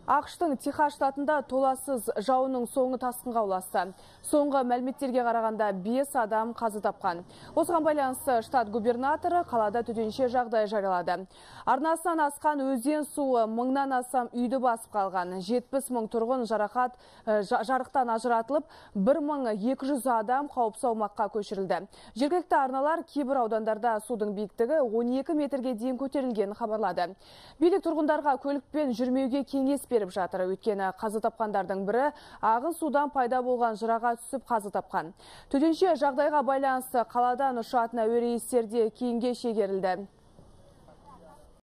ақш-тың Техас штатында толассыз жауынның соңы тасқынға ұласты. Соңғы мәліметтерге қарағанда 5 адам қаза тапқан. Осыған байланысты штат губернаторы қалада төтенше жағдай жариялады. Арнасынан асқан өзен суы мыңнан астам үйді басып қалған. 70 мың тұрғын жарықтан ажыратылып, 1200 адам қауіпсіз аумаққа көшірілді. Жергілікті арналар кейбір аудандарда судың биіктігі 12 метрге дейін көтерілгенін хабарлады. Билік тұрғындарға көлікпен жүрмеуге кеңес беріп жатыр. Өйткені қаза тапқандардың бірі ағын судан пайда болған жыраға түсіп қаза тапқан. Төтенше жағдайға байланысты қаладан ұшатын әуе рейстері кейінге шегерілді.